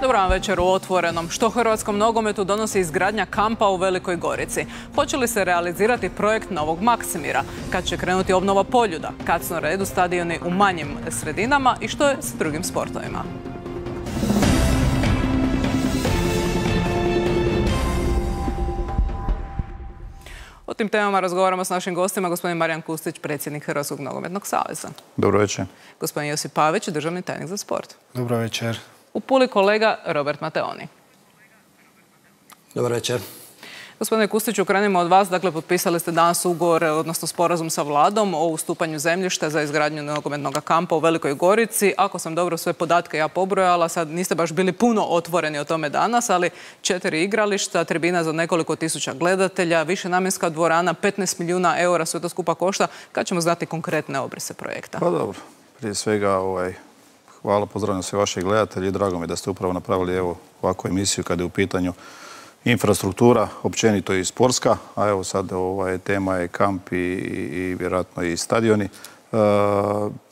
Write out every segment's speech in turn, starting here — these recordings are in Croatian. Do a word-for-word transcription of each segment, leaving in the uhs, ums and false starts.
Dobar vam večer u Otvorenom. Što hrvatskom nogometu donosi izgradnja kampa u Velikoj Gorici? Hoće li se realizirati projekt Novog Maksimira? Kad će krenuti obnova Poljuda? Kad su na redu stadioni u manjim sredinama? I što je s drugim sportovima? O tim temama razgovaramo s našim gostima, gospodin Marijan Kustić, predsjednik Hrvatskog nogometnog saveza. Dobro večer. Gospodin Josip Pavić, državni tajnik za sport. Dobro večer. U Puli kolega Robert Mateoni. Dobar večer. Gospodine Kustiću, krenimo od vas. Dakle, potpisali ste danas ugovor, odnosno sporazum sa vladom o ustupanju zemljišta za izgradnju nogometnog kampa u Velikoj Gorici. Ako sam dobro sve podatke ja pobrojala, sad niste baš bili puno otvoreni o tome danas, ali četiri igrališta, tribina za nekoliko tisuća gledatelja, višenamjenska dvorana, petnaest milijuna eura, sve to skupa košta. Kad ćemo znati konkretne obrise projekta? Pa dobro, prije svega ovaj, hvala, pozdravljam sve vaše gledatelji i drago mi da ste upravo napravili evo ovakvu emisiju kada je u pitanju infrastruktura, općenito i sportska, a evo sad ovaj, tema je kamp i, i vjerojatno i stadioni. E,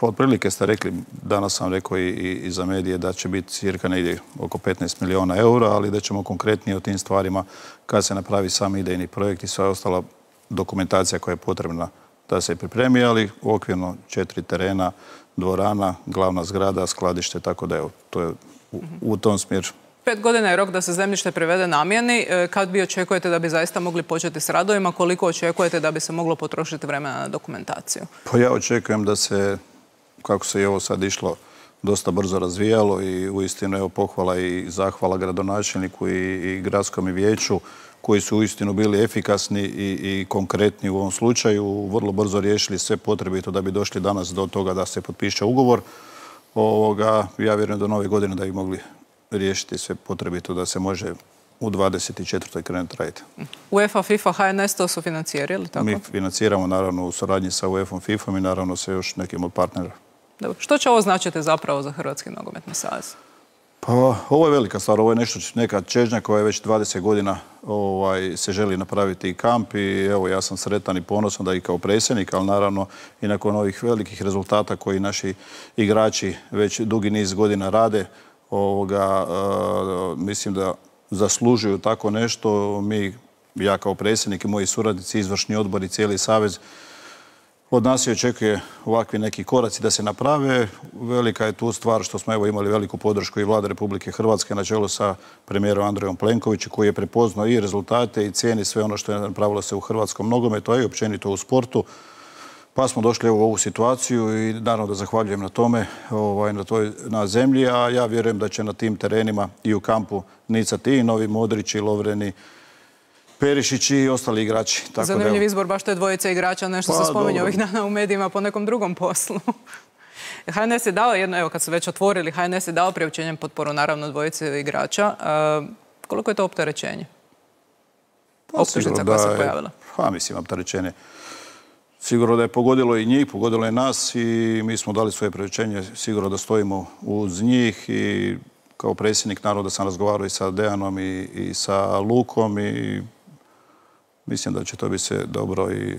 otprilike ste rekli, danas sam rekao i, i za medije da će biti cirka negdje oko petnaest milijuna eura, ali da ćemo konkretnije o tim stvarima kad se napravi sam idejni projekt i sva ostala dokumentacija koja je potrebna da se pripremi, ali okvirno četiri terena, dvorana, glavna zgrada, skladište, tako da evo, to je u, u tom smjeru. Pet godina je rok da se zemljište privede namjeni. Kad bi očekujete da bi zaista mogli početi s radovima? Koliko očekujete da bi se moglo potrošiti vremena na dokumentaciju? Pa ja očekujem da se, kako se i ovo sad išlo, dosta brzo razvijalo i uistinu evo pohvala i zahvala gradonačelniku i, i gradskom vijeću koji su uistinu bili efikasni i, i konkretni u ovom slučaju, vrlo brzo riješili sve potrebito da bi došli danas do toga da se potpiše ugovor. Ovoga, ja vjerujem do nove godine da bi mogli riješiti sve potrebito da se može u dvadeset četvrtoj krenuti raditi. UEFA, FIFA, H N S to su financijeri, ili tako? Mi financiramo naravno u suradnji sa UEFA-om, FIFA-om i naravno sa još nekim od partnera. Dobro. Što će ovo značiti zapravo za Hrvatski nogometni savez? Pa ovo je velika stvar, ovo je nešto, neka čežnja koja je već dvadeset godina ovaj, se želi napraviti i kamp i evo ja sam sretan i ponosan da i kao predsjednik, ali naravno i nakon ovih velikih rezultata koji naši igrači već dugi niz godina rade, Ovoga, uh, mislim da zaslužuju tako nešto. Mi, ja kao predsjednik i moji suradnici, izvršni odbor i cijeli savez, od nas se očekuje ovakvi neki koraci da se naprave. Velika je tu stvar što smo evo imali veliku podršku i Vlade Republike Hrvatske na čelu sa premijerom Andrejom Plenkovićem koji je prepoznao i rezultate i cijeni sve ono što je napravilo se u hrvatskom nogometu, a i općenito u sportu. Pa smo došli u ovu situaciju i naravno da zahvaljujem na tome, ovaj, na, toj, na zemlji, a ja vjerujem da će na tim terenima i u kampu nicati i Novi Modrići, Lovreni, Perišići i ostali igrači. Tako Zanimljiv da, izbor baš te dvojice igrača, nešto pa, se spominje dobro. ovih dana u medijima po nekom drugom poslu. H N S je dao jedno, evo kad su već otvorili, H N S je dao priopćenjem potporu naravno dvojice igrača. E, koliko je to opterećenje? Pa, optužnica koja se pojavila. Pa mislim, opterećenje. Sigurno da je pogodilo i njih, pogodilo je nas i mi smo dali svoje priopćenje. Sigurno da stojimo uz njih i kao predsjednik naroda sam razgovarao i sa Dejanom i, i sa Lukom i mislim da će to biti sve dobro i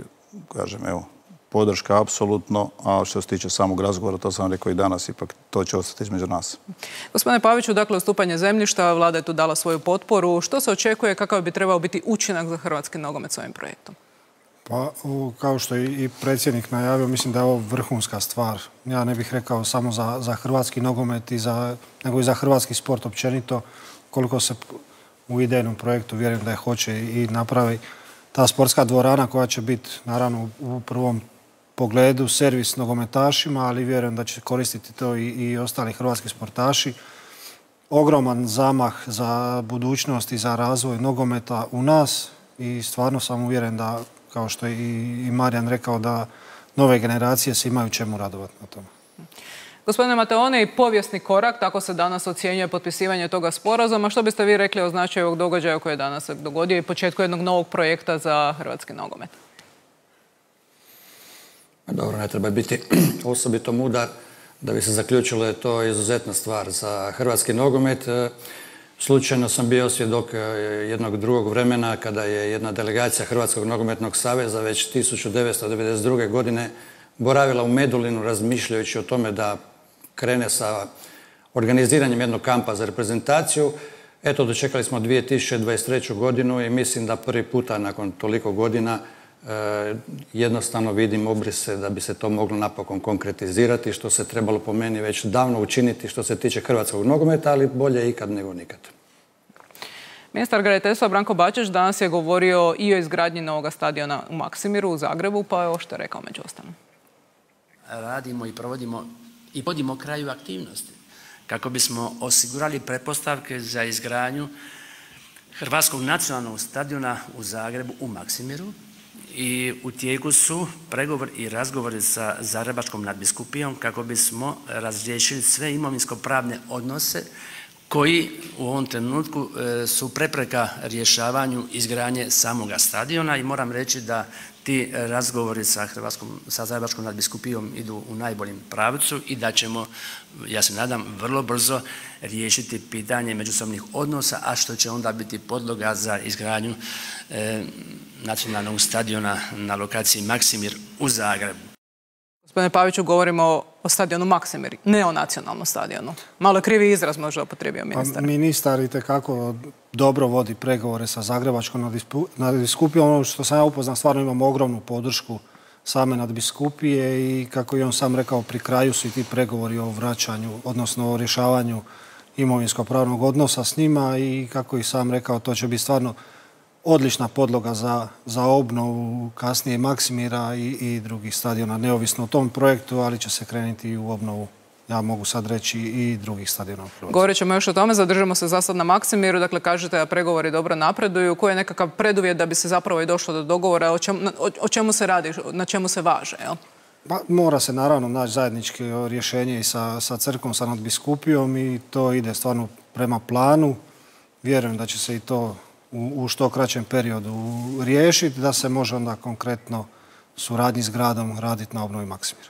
kažem, evo, podrška apsolutno, a što se tiče samog razgovora, to sam rekao i danas, ipak to će ostati između nas. Gospodine Paviću, dakle, ustupanje zemljišta, vlada je tu dala svoju potporu. Što se očekuje, kakav bi trebao biti učinak za hrvatski nogomet s ovim projektom? Pa, kao što je i predsjednik najavio, mislim da je ovo vrhunska stvar. Ja ne bih rekao samo za, za hrvatski nogomet, i za, nego i za hrvatski sport općenito. Koliko se u idejnom projektu vjerujem da je hoće i napravi ta sportska dvorana koja će biti, naravno, u prvom pogledu servis nogometašima, ali vjerujem da će koristiti to i, i ostali hrvatski sportaši. Ogroman zamah za budućnost i za razvoj nogometa u nas i stvarno sam uvjeren da, kao što je i Marijan rekao, da nove generacije se imaju čemu radovati na tome. Gospodine Mateoni, povijesni korak, tako se danas ocjenjuje potpisivanje toga sporazuma. Što biste vi rekli o značaju ovog događaja koji je danas se dogodio i početku jednog novog projekta za hrvatski nogomet? Dobro, ne treba biti osobito mudar da bi se zaključilo da je to izuzetna stvar za hrvatski nogomet. Slučajno sam bio svjedok jednog drugog vremena kada je jedna delegacija Hrvatskog nogometnog saveza već tisuću devetsto devedeset druge. godine boravila u Medulinu razmišljajući o tome da krene sa organiziranjem jednog kampa za reprezentaciju. Eto, dočekali smo dvije tisuće dvadeset treću godinu i mislim da prvi puta nakon toliko godina jednostavno vidim obrise da bi se to moglo napokon konkretizirati, što se trebalo po meni već davno učiniti što se tiče hrvatskog nogometa, ali bolje ikad nego nikad. Ministar graditeljstva Branko Bačić danas je govorio i o izgradnji novog stadiona u Maksimiru u Zagrebu, pa je ovo što je rekao među ostalim. Radimo i provodimo i podimo kraju aktivnosti kako bismo osigurali pretpostavke za izgradnju Hrvatskog nacionalnog stadiona u Zagrebu u Maksimiru i u tijeku su pregovori i razgovori sa Zagrebačkom nadbiskupijom kako bismo razriješili sve imovinsko-pravne odnose koji u ovom trenutku su prepreka rješavanju izgradnje samoga stadiona i moram reći da ti razgovori sa Hrvatskom, sa Zagrebačkom nadbiskupijom idu u najboljem pravcu i da ćemo, ja se nadam, vrlo brzo riješiti pitanje međusobnih odnosa, a što će onda biti podloga za izgradnju e, nacionalnog stadiona na lokaciji Maksimir u Zagrebu. Gospodine Paviću, govorimo o stadionu Maksimir, ne o nacionalnom stadionu. Malo je krivi izraz možda upotrijebio ministar. Pa, ministar itekako dobro vodi pregovore sa Zagrebačkom nadbiskupijom. Ono što sam ja upoznao, stvarno imamo ogromnu podršku same nadbiskupije i kako je on sam rekao, pri kraju su i ti pregovori o vraćanju, odnosno o rješavanju imovinsko-pravnog odnosa s njima i kako je sam rekao, to će biti stvarno odlična podloga za, za obnovu kasnije Maksimira i, i drugih stadiona, neovisno o tom projektu, ali će se krenuti i u obnovu, ja mogu sad reći, i drugih stadiona u Hrvatskoj. Govorit ćemo još o tome, zadržamo se za sad na Maksimiru, dakle kažete da pregovori dobro napreduju, koji je nekakav preduvjet da bi se zapravo i došlo do dogovora, o čemu, o, o čemu se radi, na čemu se važe, jel? Pa, mora se naravno naći zajedničko rješenje i sa, sa crkvom, sa nadbiskupijom i to ide stvarno prema planu. Vjerujem da će se i to u, u što kraćem periodu riješiti, da se može onda konkretno suradnji s gradom raditi na obnovi Maksimira.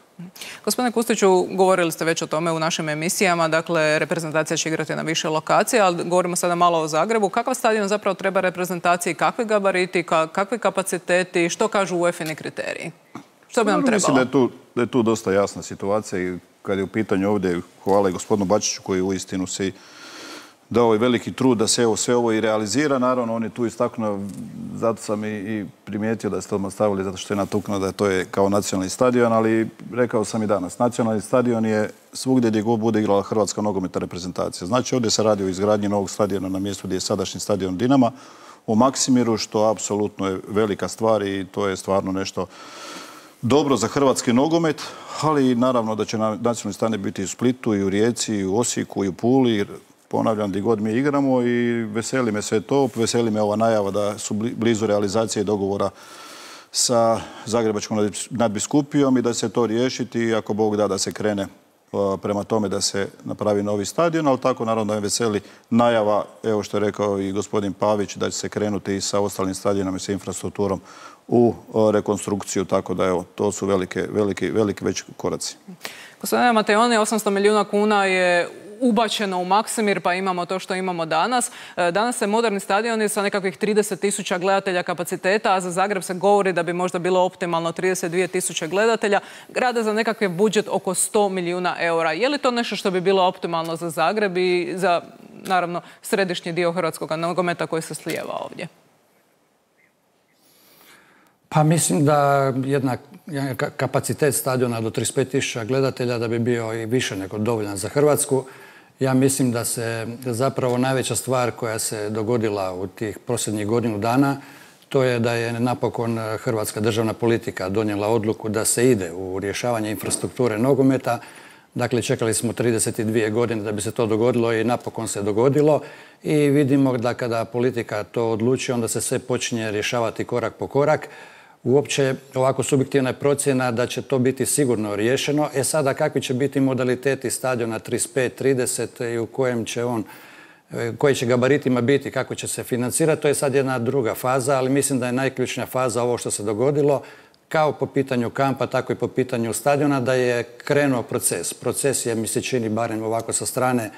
Gospodine Kustiću, govorili ste već o tome u našim emisijama, dakle reprezentacija će igrati na više lokacija, ali govorimo sada malo o Zagrebu. Kakav stadion zapravo treba reprezentaciji, kakvi gabariti, kakvi kapaciteti, što kažu U E F-ini kriteriji? Što bi nam trebalo? Mislim da je, tu, da je tu dosta jasna situacija i kad je u pitanju ovdje, hvala i gospodinu Bačiću koji uistinu se dao i veliki trud da se evo, sve ovo i realizira. Naravno, on je tu istaknuo, zato sam i, i primijetio da ste odmah stavili, zato što je natuknuo da to je kao nacionalni stadion, ali rekao sam i danas, nacionalni stadion je svugdje gdje god bude igrala Hrvatska nogometna reprezentacija. Znači, ovdje se radi o izgradnji novog stadiona na mjestu gdje je sadašnji stadion Dinama u Maksimiru, što apsolutno je velika stvar i to je stvarno nešto dobro za hrvatski nogomet, ali naravno da će nacionalni stadion biti i u Splitu, i u Rijeci, i u Osijeku, i u Puli, ponavljam, gdje god mi igramo i veseli me sve to. Veseli me ova najava da su blizu realizacije dogovora sa Zagrebačkom nadbiskupijom i da se to riješiti i ako Bog da da se krene prema tome da se napravi novi stadion, ali tako naravno da me veseli najava, evo što je rekao i gospodin Pavić, da će se krenuti i sa ostalim stadionom i sa infrastrukturom u rekonstrukciju, tako da evo, to su velike, veliki, veliki već koraci. Gospodine Mateoni, osamsto milijuna kuna je ubačeno u Maksimir, pa imamo to što imamo danas. Danas se moderni stadioni sa nekakvih trideset tisuća gledatelja kapaciteta, a za Zagreb se govori da bi možda bilo optimalno trideset dvije tisuće gledatelja, grade za nekakav budžet oko sto milijuna eura. Je li to nešto što bi bilo optimalno za Zagreb i za, naravno, središnji dio hrvatskog nogometa koji se slijeva ovdje? Pa mislim da jedna kapacitet stadiona do trideset pet tisuća gledatelja da bi bio i više nego dovoljan za Hrvatsku. Ja mislim da se zapravo najveća stvar koja se dogodila u tih posljednjih godinu dana, to je da je napokon hrvatska državna politika donijela odluku da se ide u rješavanje infrastrukture nogometa. Dakle, čekali smo trideset dvije godine da bi se to dogodilo i napokon se dogodilo. I vidimo da kada politika to odluči, onda se sve počinje rješavati korak po korak. Uopće, ovako subjektivna je procjena da će to biti sigurno riješeno. E sada, kakvi će biti modaliteti stadiona trideset pet trideset i u kojem će on, koji će gabaritima biti, kako će se financirati, to je sad jedna druga faza, ali mislim da je najključnija faza ovo što se dogodilo, kao po pitanju kampa, tako i po pitanju stadiona, da je krenuo proces. Proces je, mi se čini, barem ovako sa strane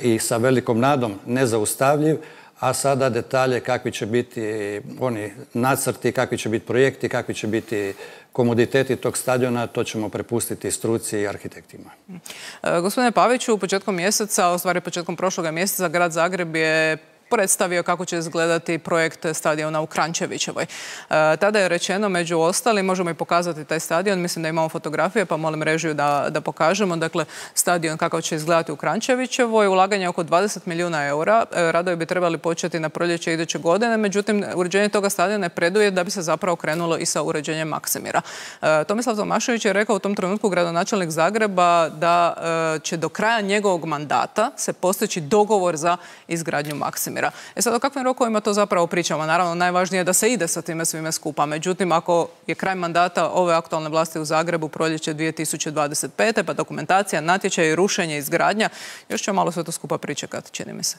i sa velikom nadom, nezaustavljiv, a sada detalje kakvi će biti oni nacrti, kakvi će biti projekti, kakvi će biti komoditeti tog stadiona, to ćemo prepustiti struci i arhitektima. E, gospodine Paviću, početkom mjeseca, u stvari početkom prošloga mjeseca, grad Zagreb je predstavio kako će izgledati projekt stadiona u Kranjčevićevoj. E, tada je rečeno, među ostalim, možemo i pokazati taj stadion, mislim da imamo fotografije, pa molim režiju da, da pokažemo. Dakle, stadion kakav će izgledati u Kranjčevićevoj, ulaganje oko dvadeset milijuna eura. E, radovi bi trebali početi na proljeće iduće godine, međutim, uređenje toga stadiona je preduvjet da bi se zapravo krenulo i sa uređenjem Maksimira. E, Tomislav Tomašević je rekao u tom trenutku, gradonačelnik Zagreba, da e, će do kraja njegovog mandata se postići dogovor za izgradnju Maksimira. E sad, o kakvim rokovima to zapravo pričamo? Naravno, najvažnije je da se ide sa time svime skupa. Međutim, ako je kraj mandata ove aktualne vlasti u Zagrebu proljeće dvije tisuće dvadeset pete. pa dokumentacija, natječaj, rušenje, izgradnja, još će malo sve to skupa pričekati, čini mi se.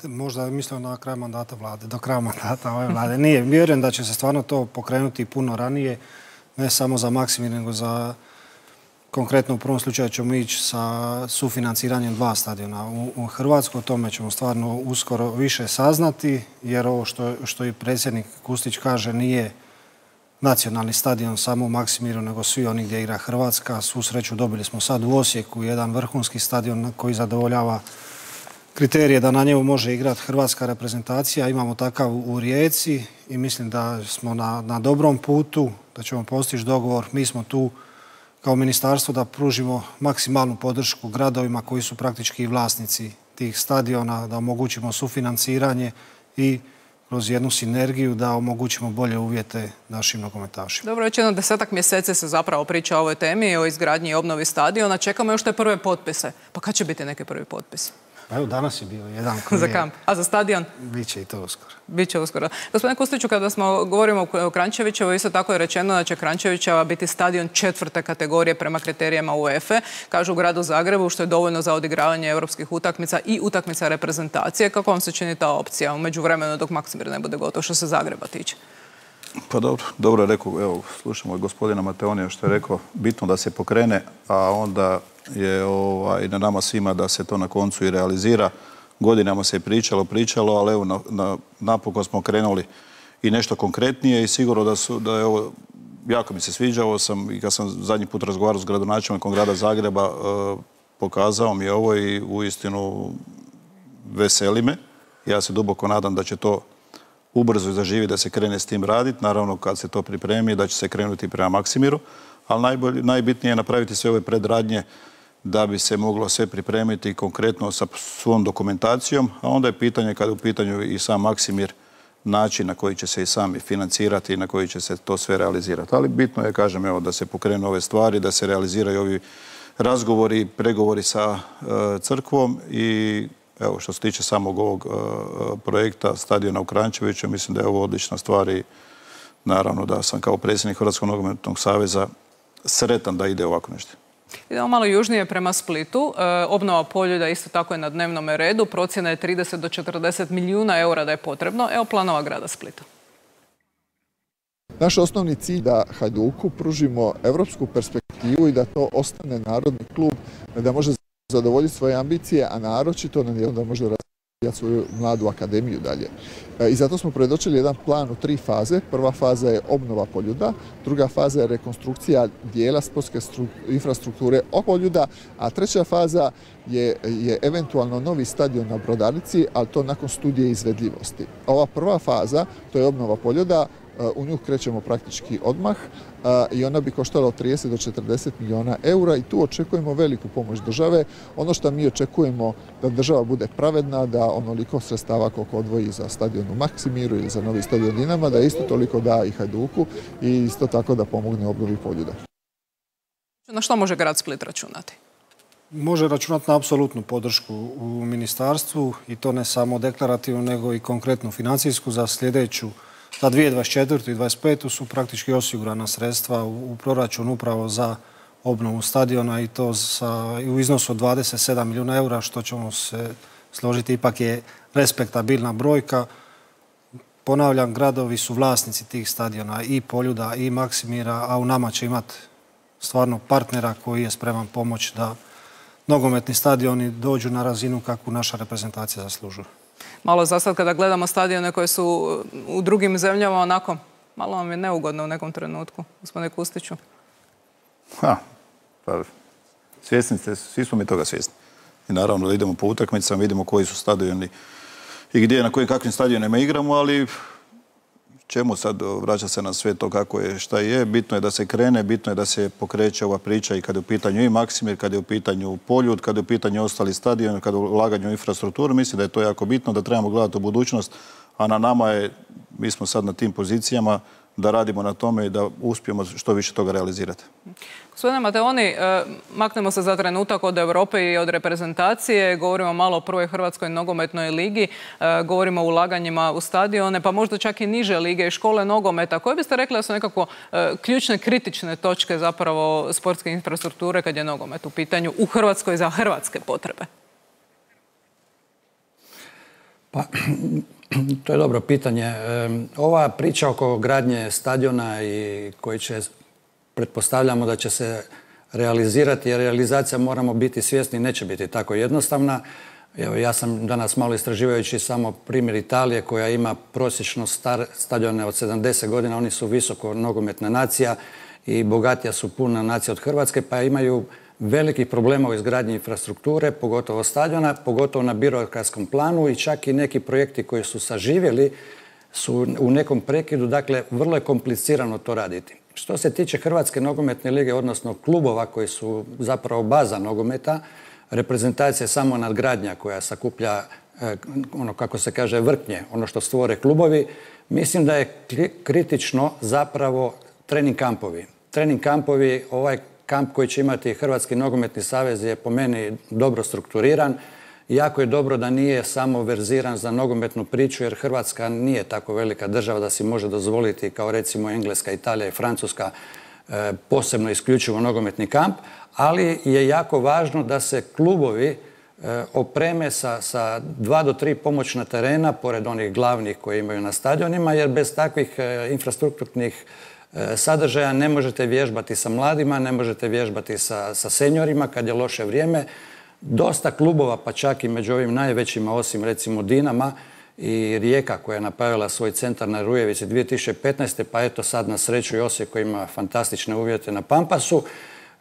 Možda je mislio na kraj mandata vlade, do kraja mandata ove vlade. Nije, vjerujem da će se stvarno to pokrenuti puno ranije, ne samo za Maksimir, nego za... Konkretno u prvom slučaju ćemo ići sa sufinanciranjem dva stadiona u, u Hrvatskoj. O tome ćemo stvarno uskoro više saznati, jer ovo što, što i predsjednik Kustić kaže nije nacionalni stadion samo u Maksimiru, nego svi oni gdje igra Hrvatska. Svu sreću dobili smo sad u Osijeku jedan vrhunski stadion koji zadovoljava kriterije da na njemu može igrati hrvatska reprezentacija. Imamo takav u Rijeci i mislim da smo na, na dobrom putu, da ćemo postići dogovor. Mi smo tu kao ministarstvo da pružimo maksimalnu podršku gradovima koji su praktički vlasnici tih stadiona, da omogućimo sufinanciranje i kroz jednu sinergiju da omogućimo bolje uvjete našim nogometašima. Dobro, već jedno desetak mjeseci se zapravo priča o ovoj temi, o izgradnji i obnovi stadiona. Čekamo još te prve potpise. Pa kad će biti neki prvi potpis? Pa evo, danas je bio jedan koji za kamp. A za stadion? Biće i to uskoro. Biće uskoro. Gospodine Kustiću, kada smo govorimo o Kranjčevićevoj, isto tako je rečeno da će Kranjčevićeva biti stadion četvrte kategorije prema kriterijama UEFA. Kažu u gradu Zagrebu, što je dovoljno za odigravanje europskih utakmica i utakmica reprezentacije. Kako vam se čini ta opcija u međuvremenu dok Maksimir ne bude gotov, što se Zagreba tiče? Pa dobro, dobro je rekao, evo, slušamo i gospodina Mateonija što je rekao, bitno da se pokrene, a onda je ovaj, na nama svima da se to na koncu i realizira. Godinama se je pričalo, pričalo, ali evo, na, na, napokon smo krenuli i nešto konkretnije i sigurno da, su, da je ovo, jako mi se sviđao sam i kad sam zadnji put razgovarao s gradonačelnikom grada Zagreba, eh, pokazao mi je ovo i uistinu veseli me. Ja se duboko nadam da će to ubrzo zaživi, da se krene s tim raditi. Naravno, kad se to pripremi, da će se krenuti prema Maksimiru. Ali najbolj, najbitnije je napraviti sve ove predradnje da bi se moglo sve pripremiti konkretno sa svom dokumentacijom. A onda je pitanje, kada je u pitanju i sam Maksimir, način na koji će se i sami financirati i na koji će se to sve realizirati. Ali bitno je, kažem, evo, da se pokrenu ove stvari, da se realiziraju ovi razgovori, pregovori sa uh, crkvom i evo, što se tiče samog ovog uh, projekta stadiona u Kranjčeviću, mislim da je ovo odlična stvar i naravno da sam kao predsjednik Hrvatskog nogometnog saveza sretan da ide ovako nešto. Idemo malo južnije prema Splitu. E, obnova Poljuda isto tako je na dnevnom redu. Procjena je trideset do četrdeset milijuna eura da je potrebno. Evo planova grada Splita. Naš osnovni cilj da Hajduku pružimo evropsku perspektivu i da to ostane narodni klub, da može zadovoljiti svoje ambicije, a naročito da može razvijati svoju mladu akademiju dalje. I zato smo predočili jedan plan u tri faze. Prva faza je obnova Poljuda, druga faza je rekonstrukcija dijela sportske infrastrukture oko Poljuda, a treća faza je, je eventualno novi stadion na Brodarici, ali to nakon studije izvedljivosti. Ova prva faza, to je obnova Poljuda, u nju krećemo praktički odmah i ona bi koštala od trideset do četrdeset milijuna eura i tu očekujemo veliku pomoć države. Ono što mi očekujemo da država bude pravedna, da onoliko sredstava koliko odvoji za stadion u Maksimiru ili za novi stadion Dinama, da isto toliko da i Hajduku i isto tako da pomogne obnovi Poljuda. Na što može grad Split računati? Može računati na apsolutnu podršku u ministarstvu i to ne samo deklarativnu, nego i konkretnu financijsku za sljedeću. Za dvije tisuće dvadeset četvrtu i dvadeset petu su praktički osigurana sredstva u proračunu upravo za obnovu stadiona i to sa, u iznosu od dvadeset sedam milijuna eura, što ćemo se složiti, ipak je respektabilna brojka. Ponavljam, gradovi su vlasnici tih stadiona i Poljuda i Maksimira, a u nama će imati stvarno partnera koji je spreman pomoći da nogometni stadioni dođu na razinu kakvu naša reprezentacija zaslužuje. Malo za sad kada gledamo stadione koje su u drugim zemljama, onako, malo vam je neugodno u nekom trenutku, gospodine Kustiću. Ha, pa svjesni ste, svi smo mi toga svjesni. I naravno da idemo po utakmicama, vidimo koji su stadioni i gdje, na kojim kakvim stadionima igramo, ali čemu sad vraća se na sve to kako je, šta je. Bitno je da se krene, bitno je da se pokreće ova priča i kada je u pitanju i Maksimir, kada je u pitanju Poljud, kada je u pitanju ostali stadioni, kada je u ulaganju u infrastrukturu. Mislim da je to jako bitno, da trebamo gledati u budućnost, a na nama je, mi smo sad na tim pozicijama, da radimo na tome i da uspijemo što više toga realizirati. Gospodine Mateoni, maknemo se za trenutak od Europe i od reprezentacije, govorimo malo o prvoj Hrvatskoj nogometnoj ligi, govorimo o ulaganjima u stadione, pa možda čak i niže lige i škole nogometa. Koje biste rekli da su nekako ključne, kritične točke zapravo sportske infrastrukture kad je nogomet u pitanju u Hrvatskoj za hrvatske potrebe? Pa, to je dobro pitanje. Ova priča oko gradnje stadiona i koji će, pretpostavljamo da će se realizirati, jer realizacija, moramo biti svjesni, neće biti tako jednostavna. Evo, ja sam danas malo istraživajući samo primjer Italije koja ima prosječno star stadione od sedamdeset godina, oni su visoko nogometna nacija i bogatija su puna nacija od Hrvatske, pa imaju velikih problema u izgradnji infrastrukture, pogotovo stadiona, pogotovo na birokratskom planu i čak i neki projekti koji su saživjeli su u nekom prekidu, dakle vrlo je komplicirano to raditi. Što se tiče Hrvatske nogometne lige, odnosno klubova koji su zapravo baza nogometa, reprezentacija je samo nadgradnja koja sakuplja, ono kako se kaže, vrtnje, ono što stvore klubovi. Mislim da je kritično zapravo trening kampovi. Trening kampovi, ovaj kamp koji će imati Hrvatski nogometni savez je po meni dobro strukturiran. Jako je dobro da nije samo verziran za nogometnu priču, jer Hrvatska nije tako velika država da si može dozvoliti, kao recimo Engleska, Italija i Francuska, posebno isključivo nogometni kamp, ali je jako važno da se klubovi opreme sa, sa dva do tri pomoćna terena, pored onih glavnih koje imaju na stadionima, jer bez takvih infrastrukturnih sadržaja ne možete vježbati sa mladima, ne možete vježbati sa, sa seniorima kad je loše vrijeme. Dosta klubova, pa čak i među ovim najvećima, osim recimo Dinama i Rijeka koja je napravila svoj centar na Rujevici dvije tisuće petnaeste. pa eto sad na sreću i Osijek koji ima fantastične uvjete na Pampasu.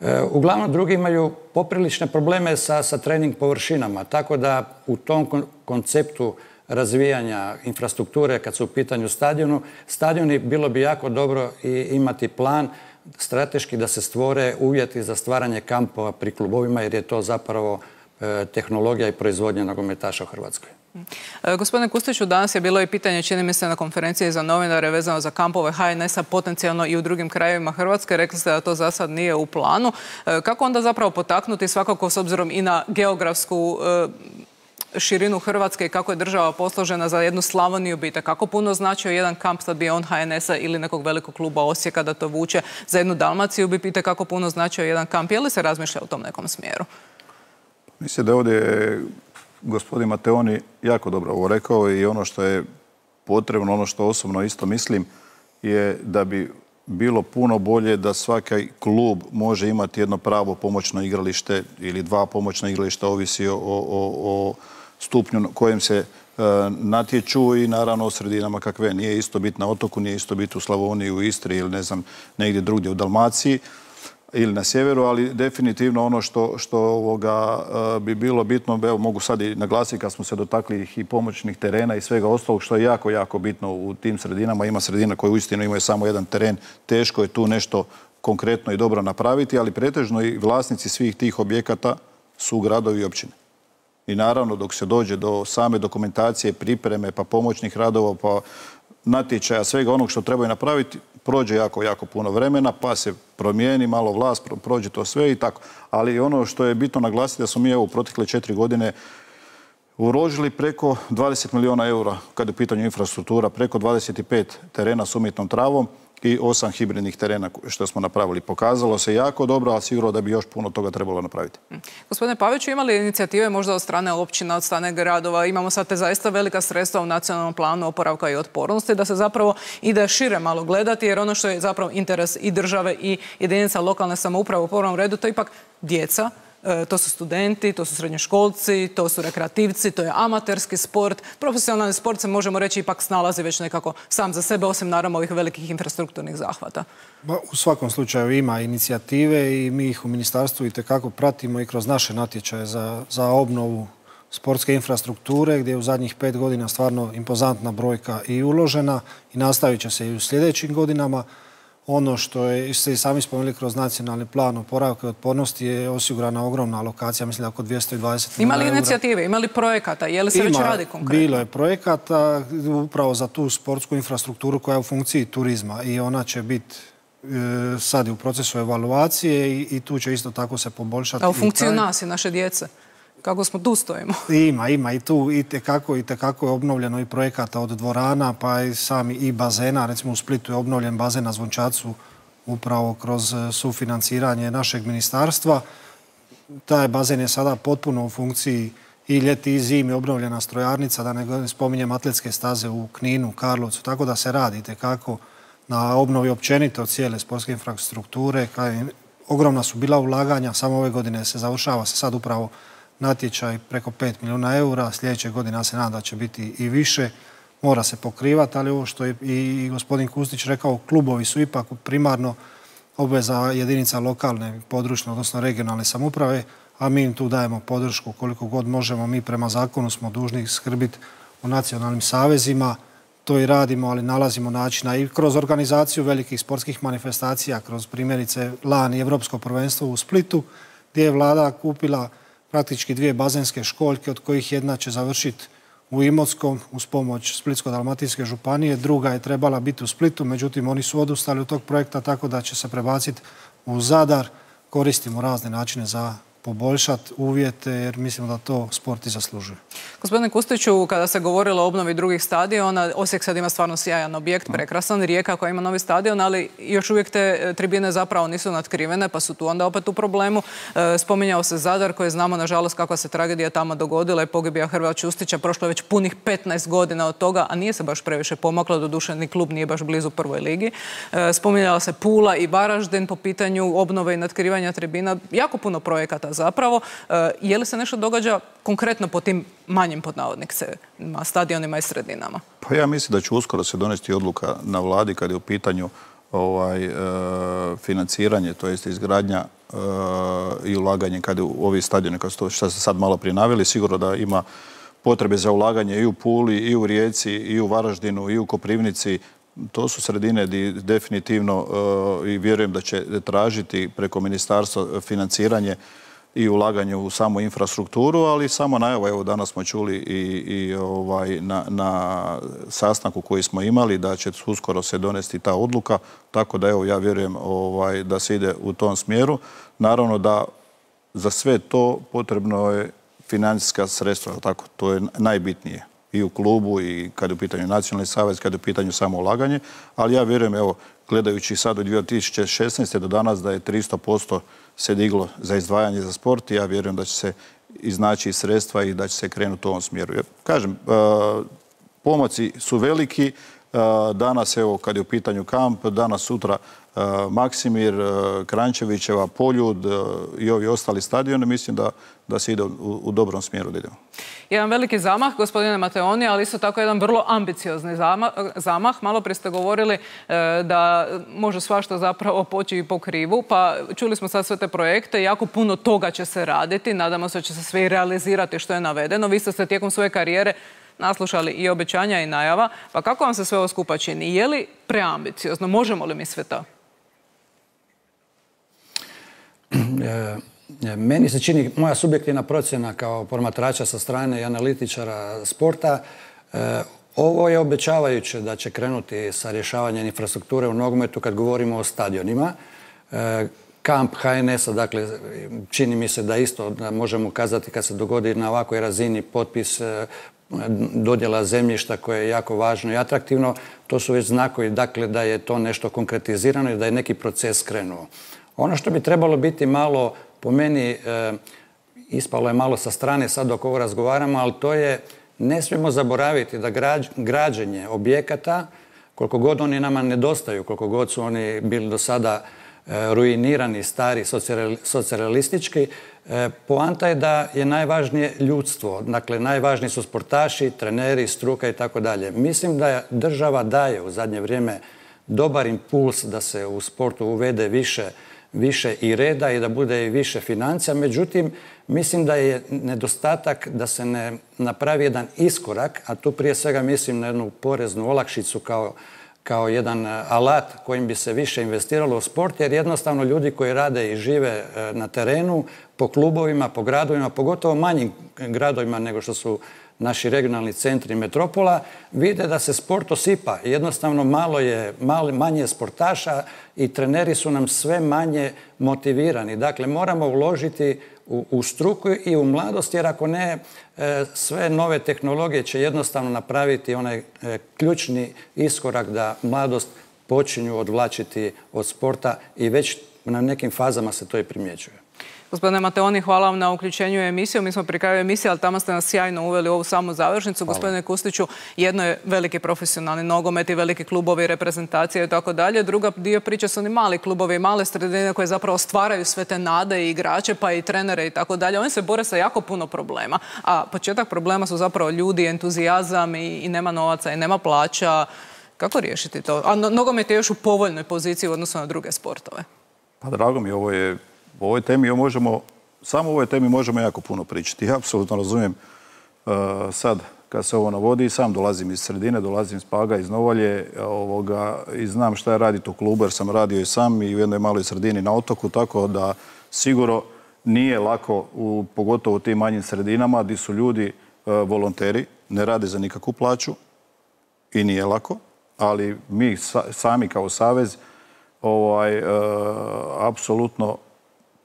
E, uglavnom drugi imaju poprilične probleme sa, sa trening površinama, tako da u tom kon konceptu razvijanja infrastrukture kad su u pitanju stadionu, stadioni bilo bi jako dobro i imati plan strateški da se stvore uvjeti za stvaranje kampova pri klubovima, jer je to zapravo e, tehnologija i proizvodnja nogometaša u Hrvatskoj. E, gospodine Kustiću, danas je bilo i pitanje, čini mi se, na konferenciji za novinare vezano za kampove H N S-a potencijalno i u drugim krajevima Hrvatske. Rekli ste da to za sad nije u planu. E, kako onda zapravo potaknuti, svakako s obzirom i na geografsku e, širinu Hrvatske i kako je država posložena, za jednu Slavoniju bite? Kako puno značio jedan kamp, sad bi on H N S-a ili nekog velikog kluba Osijeka da to vuče, za jednu Dalmaciju bi pite kako puno značio jedan kamp? Je li se razmišlja u tom nekom smjeru? Mislim da ovdje je gospodin Mateoni jako dobro ovo rekao i ono što je potrebno, ono što osobno isto mislim, je da bi bilo puno bolje da svaki klub može imati jedno pravo pomoćno igralište ili dva pomoćna igrališta, ovisi o, o, o stupnju kojem se e, natječu i naravno o sredinama kakve. Nije isto biti na otoku, nije isto biti u Slavoniji, u Istri ili ne znam, negdje drugdje u Dalmaciji ili na sjeveru, ali definitivno ono što, što ovoga, e, bi bilo bitno, evo mogu sad i naglasiti kad smo se dotakli i pomoćnih terena i svega ostalog, što je jako, jako bitno u tim sredinama. Ima sredina koje uistinu imaju samo jedan teren, teško je tu nešto konkretno i dobro napraviti, ali pretežno i vlasnici svih tih objekata su gradovi i općine. I naravno dok se dođe do same dokumentacije, pripreme, pa pomoćnih radova, pa natječaja, svega onog što trebaju napraviti, prođe jako, jako puno vremena, pa se promijeni malo vlast, prođe to sve i tako. Ali ono što je bitno naglasiti da smo mi evo u protekle četiri godine uložili preko dvadeset milijuna eura kada je u pitanju infrastruktura, preko dvadeset pet terena s umjetnom travom i osam hibridnih terena što smo napravili. Pokazalo se jako dobro, ali sigurno da bi još puno toga trebalo napraviti. Gospodine Paviću, imali inicijative možda od strane općina, od strane gradova? Imamo sad te zaista velika sredstva u nacionalnom planu oporavka i otpornosti, da se zapravo ide šire malo gledati, jer ono što je zapravo interes i države i jedinica lokalne samouprave u prvom redu, to je ipak djeca, To su studenti, to su srednjoškolci, to su rekreativci, to je amaterski sport. Profesionalni sport se, možemo reći, ipak snalazi već nekako sam za sebe, osim naravno ovih velikih infrastrukturnih zahvata. U svakom slučaju ima inicijative i mi ih u ministarstvu itekako pratimo i kroz naše natječaje za, za obnovu sportske infrastrukture, gdje je u zadnjih pet godina stvarno impozantna brojka i uložena i nastavit će se i u sljedećim godinama. Ono što je, ste i sami spomenuli kroz nacionalni plan oporavka i otpornosti, je osigurana ogromna alokacija, mislim da oko dvjesto dvadeset milijuna eura. Ima li inicijative, ima li projekata, je li se već radi konkretno? Bilo je projekata upravo za tu sportsku infrastrukturu koja je u funkciji turizma i ona će biti sad je u procesu evaluacije i, i tu će isto tako se poboljšati. A u funkciju nas i naše djece? Kako smo tu stojimo? Ima, ima i tu i tekako, i tekako je obnovljeno i projekata od dvorana, pa i sami i bazena. Recimo u Splitu je obnovljen bazen na Zvončacu upravo kroz sufinanciranje našeg ministarstva. Taj bazen je sada potpuno u funkciji i ljeti i zimi, obnovljena strojarnica, da ne spominjem atletske staze u Kninu, Karlovcu, tako da se radi tekako na obnovi općenito cijele sportske infrastrukture. Ogromna su bila ulaganja, samo ove godine se završava se sad upravo natječaj preko pet milijuna eura, sljedeće godine se nada da će biti i više, mora se pokrivati, ali ovo što je i gospodin Kustić rekao, klubovi su ipak primarno obveza jedinica lokalne, područne, odnosno regionalne samouprave, a mi im tu dajemo podršku koliko god možemo. Mi prema zakonu smo dužni skrbiti u nacionalnim savezima, to i radimo, ali nalazimo načina i kroz organizaciju velikih sportskih manifestacija, kroz primjerice LAN i Evropsko prvenstvo u Splitu, gdje je vlada kupila praktički dvije bazenske školjke, od kojih jedna će završiti u Imotskom uz pomoć Splitsko-dalmatinske županije, druga je trebala biti u Splitu, međutim oni su odustali od tog projekta, tako da će se prebaciti u Zadar. Koristimo razne načine za poboljšati uvjete, jer mislimo da to sport i zaslužuje. Gospodine Kustiću, kada se govorilo o obnovi drugih stadiona, Osijek sad ima stvarno sjajan objekt, prekrasan, Rijeka koja ima novi stadion, ali još uvijek te tribine zapravo nisu natkrivene, pa su tu onda opet u problemu. Spominjao se Zadar, koji znamo, nažalost, kakva se tragedija tamo dogodila i pogibija Hrvoja Čustića. Prošlo je već punih petnaest godina od toga, a nije se baš previše pomaklo, doduše ni klub nije baš blizu prvoj ligi. Spominjala se Pula i Varaždin po pitanju obnove i natkrivanja tribina. Jako puno projekata zapravo. Je li se nešto događa konkretno po tim manjim podnavodnicima, stadionima i sredinama? Pa ja mislim da će uskoro se donesti odluka na vladi kad je u pitanju ovaj, e, financiranje, to jest izgradnja e, i ulaganje kad je u ovi stadioni, što ste sad malo prije naveli, sigurno da ima potrebe za ulaganje i u Puli, i u Rijeci, i u Varaždinu, i u Koprivnici. To su sredine gdje definitivno e, i vjerujem da će tražiti preko ministarstva financiranje i ulaganje u samu infrastrukturu, ali samo najava, evo danas smo čuli i, i ovaj, na, na sastanku koji smo imali da će uskoro se donesti ta odluka, tako da evo ja vjerujem ovaj, da se ide u tom smjeru. Naravno da za sve to potrebno je financijska sredstva, tako, to je najbitnije i u klubu i kad je u pitanju nacionalni savez, kad je u pitanju samo ulaganje, ali ja vjerujem, evo, gledajući sad od dvije tisuće šesnaeste. do danas da je tristo posto se diglo za izdvajanje za sport i ja vjerujem da će se iznaći sredstva i da će se krenuti u ovom smjeru. Jer, kažem, pomaci su veliki. Danas, evo, kad je u pitanju kamp, danas, sutra Maksimir, Krančevićeva, Poljud i ovi ostali stadioni, mislim da, da se ide u, u dobrom smjeru da idemo. Jedan veliki zamah, gospodine Mateoni, ali isto tako jedan vrlo ambiciozni zamah. zamah. Malo prije ste govorili e, da može svašta zapravo poći i po krivu, pa čuli smo sad sve te projekte, jako puno toga će se raditi, nadamo se da će se sve i realizirati što je navedeno. Vi ste se tijekom svoje karijere naslušali i obećanja i najava, pa kako vam se sve ovo skupa čini? Je li preambiciozno? Možemo li mi sve to? Meni se čini, moja subjektivna procjena kao promatrača sa strane i analitičara sporta, ovo je obećavajuće da će krenuti sa rješavanjem infrastrukture u nogometu kad govorimo o stadionima. Kamp H N S-a, dakle, čini mi se da isto možemo kazati kad se dogodi na ovakvoj razini potpis dodjela zemljišta koje je jako važno i atraktivno, to su već znakovi, dakle, da je to nešto konkretizirano i da je neki proces krenuo. Ono što bi trebalo biti malo, po meni, e, ispalo je malo sa strane sad dok ovo razgovaramo, ali to je, ne smijemo zaboraviti da građ, građenje objekata, koliko god oni nama nedostaju, koliko god su oni bili do sada e, ruinirani, stari, socijalistički, Poanta je da je najvažnije ljudstvo. Dakle, najvažniji su sportaši, treneri, struka i tako dalje. Mislim da država daje u zadnje vrijeme dobar impuls da se u sportu uvede više više i reda i da bude i više financija. Međutim, mislim da je nedostatak da se ne napravi jedan iskorak, a tu prije svega mislim na jednu poreznu olakšicu kao, kao jedan alat kojim bi se više investiralo u sport, jer jednostavno ljudi koji rade i žive na terenu, po klubovima, po gradovima, pogotovo manjim gradovima nego što su naši regionalni centri metropola, vide da se sport osipa. Jednostavno malo je, malo, manje sportaša i treneri su nam sve manje motivirani. Dakle, moramo uložiti u, u struku i u mladost, jer ako ne, e, sve nove tehnologije će jednostavno napraviti onaj e, ključni iskorak da mladost počinju odvlačiti od sporta i već na nekim fazama se to i primjećuje. Gospodine Mateoni, hvala vam na uključenju u emisiju. Mi smo pri kraju emisije, ali tamo ste nas sjajno uveli u ovu samu završnicu. Hvala. Gospodine Kustiću, jedno je veliki profesionalni nogomet i veliki klubovi, reprezentacije i tako dalje. Druga dio priče su oni mali klubovi i male sredine koje zapravo stvaraju sve te nade i igrače, pa i trenere i tako dalje. Oni se bore sa jako puno problema. A početak problema su zapravo ljudi, entuzijazam i, i nema novaca i nema plaća. Kako riješiti to? A no, nogomet je još u povoljnoj poziciji u odnosu na druge sportove. Pa drago mi, ovo je o ovoj temi možemo, samo o ovoj temi možemo jako puno pričati. Ja apsolutno razumijem uh, sad kad se ovo navodi, sam dolazim iz sredine, dolazim iz Paga, iz Novalje ovoga, i znam šta je raditi u klubu jer sam radio i sam i u jednoj maloj sredini na otoku, tako da sigurno nije lako, u, pogotovo u tim manjim sredinama gdje su ljudi uh, volonteri, ne rade za nikakvu plaću i nije lako, ali mi sa, sami kao savez ovaj, uh, apsolutno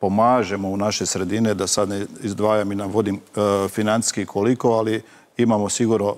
pomažemo u naše sredine, da sad ne izdvajam i navodim uh, financijski koliko, ali imamo sigurno uh,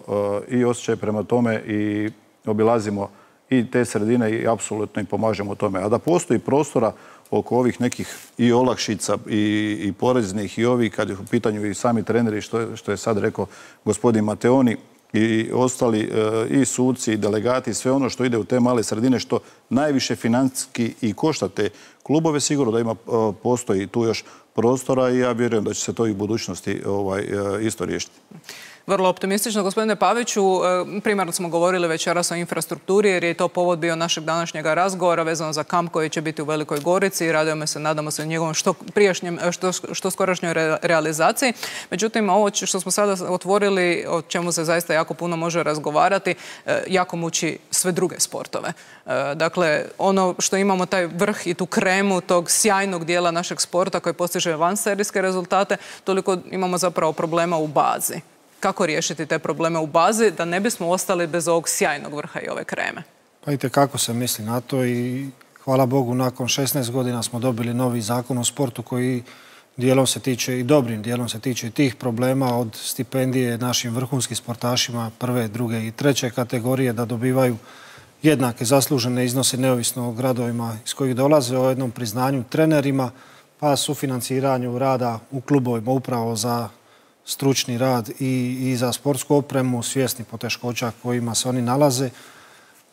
i osjećaj prema tome i obilazimo i te sredine i apsolutno im pomažemo u tome. A da postoji prostora oko ovih nekih i olakšica i, i poreznih i ovih, kad je u pitanju i sami treneri, što je, što je sad rekao gospodin Mateoni, i ostali i suci i delegati, sve ono što ide u te male sredine, što najviše financijski i košta te klubove, sigurno da ima, postoji tu još prostora i ja vjerujem da će se to i u budućnosti ovaj, isto riješiti. Vrlo optimistično. Gospodine Paviću, primarno smo govorili večeras o infrastrukturi jer je to povod bio našeg današnjeg razgovora vezano za kamp koji će biti u Velikoj Gorici i radujemo se, nadamo se njegovom što prijašnjem, što, što skorašnjoj re, realizaciji. Međutim, ovo što smo sada otvorili, o čemu se zaista jako puno može razgovarati, jako muči sve druge sportove. Dakle, ono što imamo taj vrh i tu kremu tog sjajnog dijela našeg sporta koji postiže vanserijske rezultate, toliko imamo zapravo problema u bazi. Kako riješiti te probleme u bazi da ne bismo ostali bez ovog sjajnog vrha i ove kreme? Pa vidite kako se misli na to i hvala Bogu nakon šesnaest godina smo dobili novi zakon o sportu koji dijelom se tiče i dobrim dijelom se tiče i tih problema, od stipendije našim vrhunskim sportašima prve, druge i treće kategorije da dobivaju jednake zaslužene iznose neovisno o gradovima iz kojih dolaze, o jednom priznanju trenerima pa sufinanciranju rada u klubovima upravo za stručni rad i, i za sportsku opremu, svjesni poteškoća kojima se oni nalaze.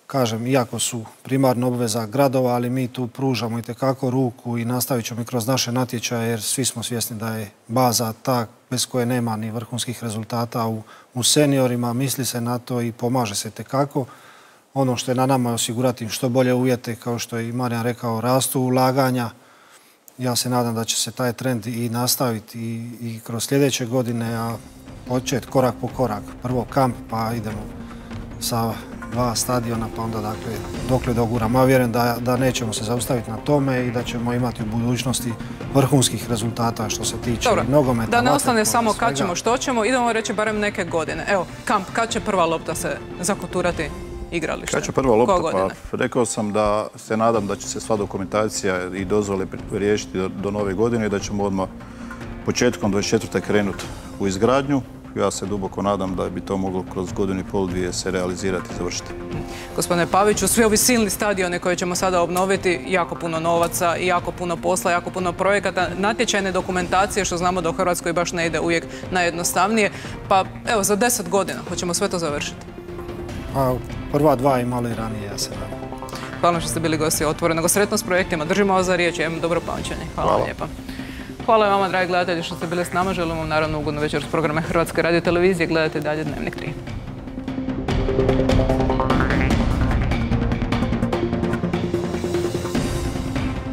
Kažem, iako su primarno obveza gradova, ali mi tu pružamo itekako ruku i nastavit ćemo i kroz naše natječaje, jer svi smo svjesni da je baza ta bez koje nema ni vrhunskih rezultata u, u seniorima. Misli se na to i pomaže se itekako. Ono što je na nama je osigurati što bolje uvjete, kao što je i Marijan rekao, rastu ulaganja. Ja se nadam da će se taj trend i nastaviti i, i kroz sljedeće godine, a početi korak po korak. Prvo kamp, pa idemo sa dva stadiona, pa onda dakle, dokle doguramo. Ja vjerujem da, da nećemo se zaustaviti na tome i da ćemo imati u budućnosti vrhunskih rezultata što se tiče Dobro, nogometa. Da ne ostane samo kad ćemo, što ćemo, idemo reći barem neke godine. Evo, kamp, kad će prva lopta se zakuturati? Igralište. Kad će prva lopta? Pa rekao sam da se nadam da će se sva dokumentacija i dozvole riješiti do, do nove godine i da ćemo odmah početkom dvadeset četvrte krenuti u izgradnju. Ja se duboko nadam da bi to moglo kroz godinu i pol dvije se realizirati i završiti. Gospodine Paviću, svi ovi silni stadione koje ćemo sada obnoviti, jako puno novaca i jako puno posla, jako puno projekata, natječajne dokumentacije, što znamo da u Hrvatskoj baš ne ide uvijek najjednostavnije. Pa evo, za deset godina hoćemo sve to završiti. A prva dva i malo i ranije, ja se nadam. Hvala što ste bili gosti Otvorenog. Sretno s projektima. Držimo vas za riječ i imam dobro pamćenje. Hvala vam lijepa. Hvala vama, dragi gledatelji, što ste bili s nama. Želim vam naravno ugodnu večer s programe Hrvatske radiotelevizije. Gledajte dalje Dnevnik tri.